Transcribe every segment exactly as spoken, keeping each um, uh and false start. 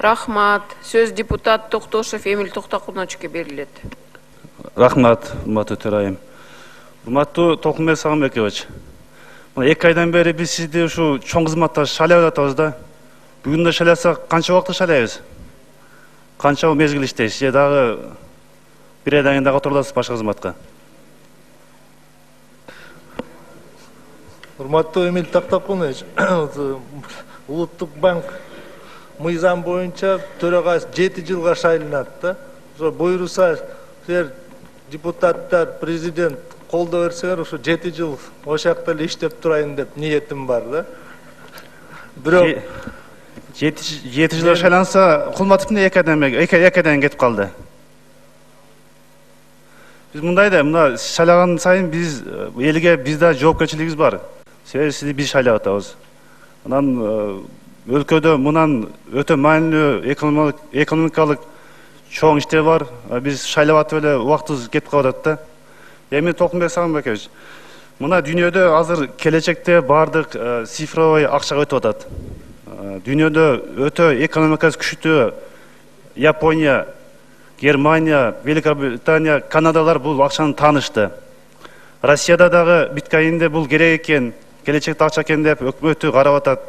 Рахмат. Сөз депутат Токтошев Эмиль Токтокуновичке берилет. Рахмат, урматтуу төрайым. Урматтуу Толкунбек Сагынбекович. Мына эки айдан бери биз сизди ушу чоң кызматта шайлап атабыз да. Бүгүн да шайласак канча убакыт шайлайбыз? Канча мезгил иштейсиз? Же дагы бир айдан кийин дагы отуруласыз башка кызматка? Урматтуу Эмиль Токтокунович, Улуттук банк мыйзам боюнча төрагасы жети жылга шайланат да. Ошо буйруса силер депутаттар, президент колдоо берсеңер, ошо жети жыл ошол жакта эле иштеп турайын деп ниетим бар да. Бирок жети жылга шайланса, Кулматов эмне эки айдан эки айдан кетип калды? Биз мындай да, мына шайлаган сайын биз элге бизде жоопкерчилигибиз бар. Себеби сизди биз шайлап атабыз. Анан өлкөдө мындан өтө маанилүү экономикалык чоң иштер бар. Биз шайлап атып эле убактыбыз кетип калып атат да. Эми Толкунбек Сагынбекович, мына дүйнөдө азыр келечекте бардык цифровой акчага өтүп атат. Дүйнөдө өтө экономикасы күчтүү Япония, Германия, Великобритания, Канадалар бул акчаны таанышты. Россияда дагы биткоинде бул керек экен, келечекте акча экен деп өкмөтү карап атат.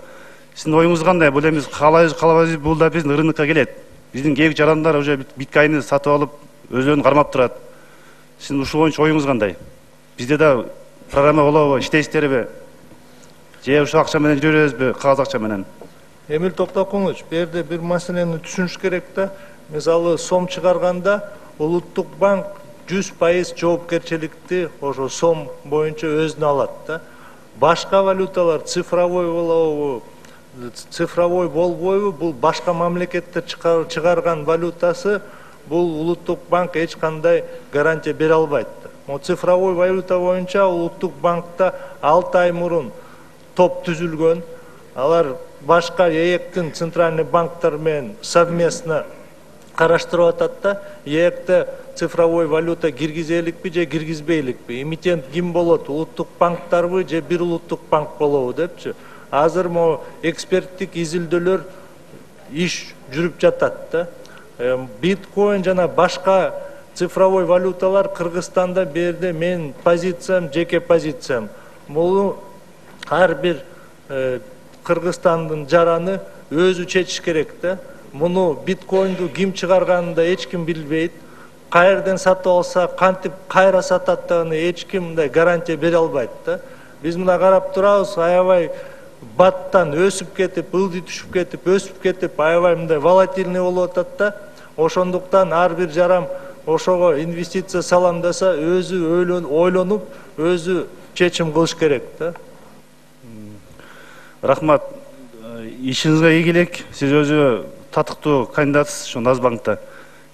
Сиздин оюңуз кандай? Бул эми каалайбыз, каалабайбыз, бул да биздин рынокко келет. Биздин кээбик жарандар уже биткоинди сатып алып, өздөрүн кармап турат. Сиздин ушул боюнча оюңуз кандай? Бизде да программа болобу, иштейсиздерби? Же ушул акча менен жүрө беребизби, кагаз акча менен? Эмиль Токтокунович, бул жерде бир маселени түшүнүш керек да. Мисалы, сом чыгарганда Улуттук банк жүз пайыз жоопкерчиликти ошо сом боюнча өзүнө алат да. Башка валюталар цифровой болобу, цифровой болбойбу, бул башка мамлекеттер чыгарган валютасы, бул Улуттук банк эч кандай гарантия бере албайт. Мо цифровой валюта боюнча Улуттук банкта алты ай мурун топ түзүлгөн. Алар башка ээктин центральный банктар менен совместно караштырып атат да. Ээкте цифровой валюта киргизеликпи же киргизбейликпи? Эмитент ким болот? Улуттук банктарбы же бир Улуттук банк болобу депчи. Азыр мо эксперттик изилдөөлөр иш жүрүп жатат да. Биткоин жана башка цифровой валюталар Кыргызстанда берде мен позициям, жеке позициям. Бул ар бир Кыргызстандын жараны өзү чечиш керек да. Муну биткоинду ким чыгарганын да эч ким билбейт. Каерден сатып алса, кантип кайра сататтыгын эч ким мындай гарантия бере албайт да. Биз мына карап турабыз, аябай баттан өсүп кетип, ылдый түшүп кетип, өсүп кетип, аябай мындай волатильный болуп атат да. Ошондуктан ар бир жарам ошого инвестиция салам десе, өзү ойлонуп, өзү чечим кылыш керек да. Рахмат. Ишиңизге ийгилик. Сиз өзү татыктуу кандидатсыз ушу Нацбанкта.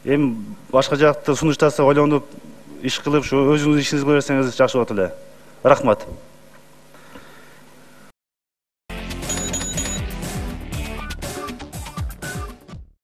Эми башка жакта сунуштаса ойлонуп, иш кылып, ушу өзүңүз ишиңизди кыла берсеңиз жакшы болот эле. Рахмат.